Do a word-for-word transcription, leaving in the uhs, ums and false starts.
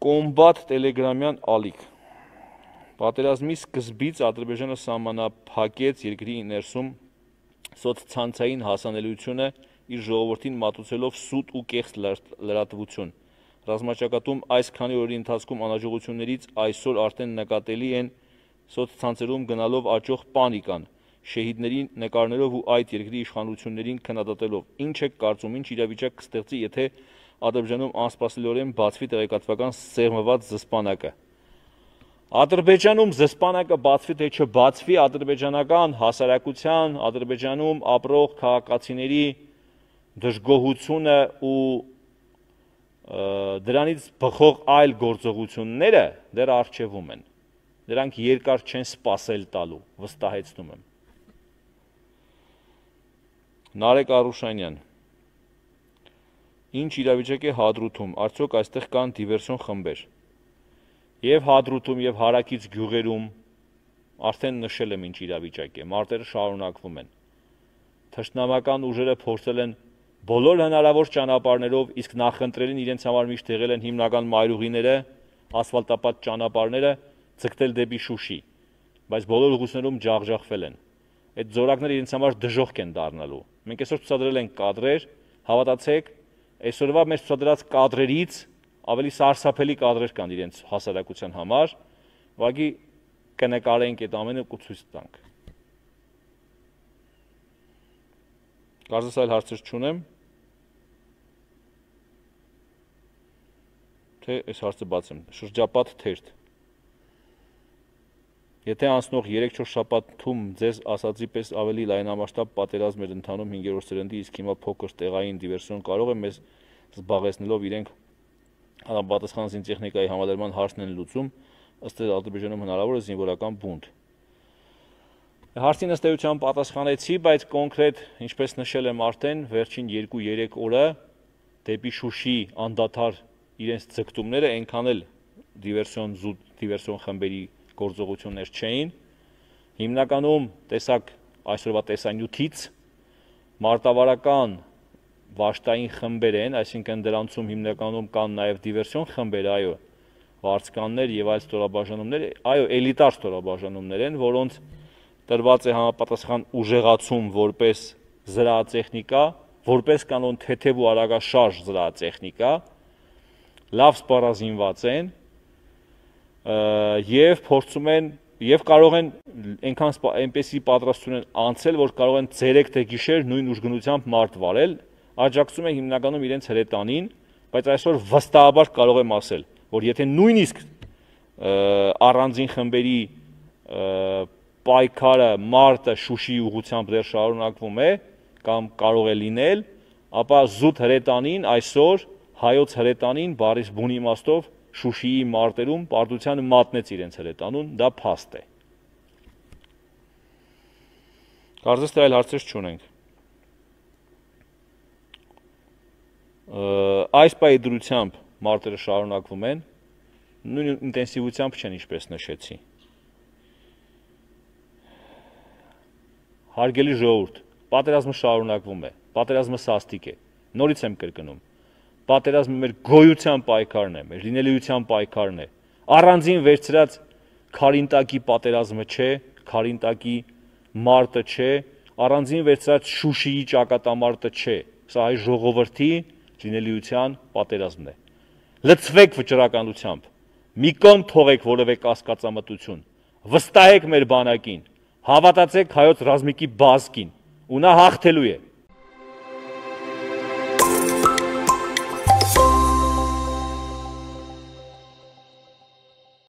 Կոմբատ տելեգրամյան ալիք։ Պատերազմի սկզբից Ադրբեջանը սահմանափակեց երկրի ներսում սոցցանցային հասանելիությունը իր ժողովրդին մատուցելով սուտ ու կեղծ լրատվություն։ Ռազմաճակատում այս քանի օրերի ընթացքում անհաջողություններից այսօր արդեն նկատելի են սոցցանցերում գնալով աճող պանիկան, շեհիդների նկարներով ու այդ երկրի իշխանություններին քննադատելով։ Ինչ եք կարծում, ինչ իրավիճակ կստեղծի, եթե Ադրբեջանում անսպասելիորեն բացվի տեղեկատվական սեղմված զսպանակը։ Ադրբեջանում զսպանակը բացվի թե չբացվի, ադրբեջանական հասարակության, Ադրբեջանում ապրող քաղաքացիների դժգոհությունը ու դրանից բխող այլ գործողությունները դեռ առջևում են։ Դրանք երկար չեն սպասել տալու, վստահեցնում եմ։ Նարեկ Արուշանյան։ Ինչ իրավիճակ է Հադրութում, արդյոք այստեղ կան դիվերսիոն խմբեր։ Եվ Հադրութում, եւ հարակից գյուղերում արդեն նշել եմ ինչ իրավիճակ է, մարտերը շարունակվում են։ Թշնամական ուժերը փորձել են բոլոր հնարավոր ճանապարհներով, իսկ նախընտրելին իրենց համար միշտ եղել են հիմնական մայրուղիները, ասֆալտապատ ճանապարհները ձգտել դեպի Շուշի, բայց բոլոր ուղղություններում ջախջախվել են։ Այդ զորակները իրենց համար դժոխք են դառնալու։ Մենք այսօր ցուցադրել ենք կադրեր, հավատացեք, այսօրվա մեր ցուցադրած կադրերից ավելի սարսափելի կադրեր կան իրենց հասարակության համար, ուղղակի կնկարենք այդ ամենը ու ցույց տանք։ Կարծես այլ հարցեր չունեմ։ Թե այս հարցը բացեմ, շրջապատ թերթ։ Եթե անցնող երեք-չորս շաբաթում ձեզ ասածի պես ավելի լայնամասշտաբ պատերազմ էր ընթանում հինգերորդ սերնդի, իսկ հիմա փոքր տեղային դիվերսիոն կարող է մեզ զբաղեցնելով իրենք պատասխան զինտեխնիկայի համալրման հարցն են լուծում, ըստ Ադրբեջանում հնարավոր է զինվորական բունտ։ Հարցին ըստ էության պատասխանեցի, բայց կոնկրետ, ինչպես նշել եմ արդեն, վերջին երկու-երեք օրը դեպի Շուշի անդադար իրենց ձգտումները այնքան էլ դիվերսիոն զուտ դիվերսիոն խմբերի գործողություններ չէին։ Հիմնականում տեսակ այսօրվա տեսանյութից մարտավարական վաշտային խմբեր են, այսինքն դրանցում հիմնականում կան նաև դիվերսիոն խմբեր, այո, վարձկաններ եւ այլ ստորաբաժանումներ, այո, էլիտար ստորաբաժանումներ են, որոնց տրված է համապատասխան ուժեղացում որպես զրահատեխնիկա, որպես կանոն թեթև ու արագաշարժ զրահատեխնիկա, լավ սպառազինված են եւ փորձում են եւ կարող են այնքան այնպեսի պատրաստություն են անցել, որ կարող են ցերեկ թե գիշեր նույն ուժգնությամբ մարդ վարել, աջակցում են հիմնականում իրենց հրետանին, բայց այսօր վստահաբար կարող եմ ասել, որ եթե նույնիսկ առանձին խմբերի պայքարը մարտը Շուշի ուղղությամբ դեռ շարունակվում է կամ կարող է լինել, ապա զուտ հրետանին այսօր հայոց հրետանին բարիս բուն իմաստով Շուշիի մարտերում պարտության մատնեց իրենց հրետանուն, դա փաստ է։ Կարծես թե այլ հարցեր չունենք։ Այս պահի դրությամբ մարտերը շարունակվում են, նույն ինտենսիվությամբ չեն, ինչպես նշեցի։ Հարգելի ժողովուրդ, պատերազմը շարունակվում է, պատերազմը սաստիկ է, նորից եմ կրկնում։ Պատերազմը մեր գոյության պայքարն է, մեր լինելիության պայքարն է։ Առանձին վերցրած Քարինտակի պատերազմը չէ, Քարինտակի մարտը չէ, առանձին վերցրած Շուշիի ճակատամարտը չէ։ Սա հայ ժողովրդի լինելիության պատերազմն է։ Լցվեք վճռականությամբ, մի կողմ թողեք որևէ կասկածամտություն, վստահեք մեր բանակին, հավատացեք հայոց ռազմիկի բազկին, ու նա հաղթելու է։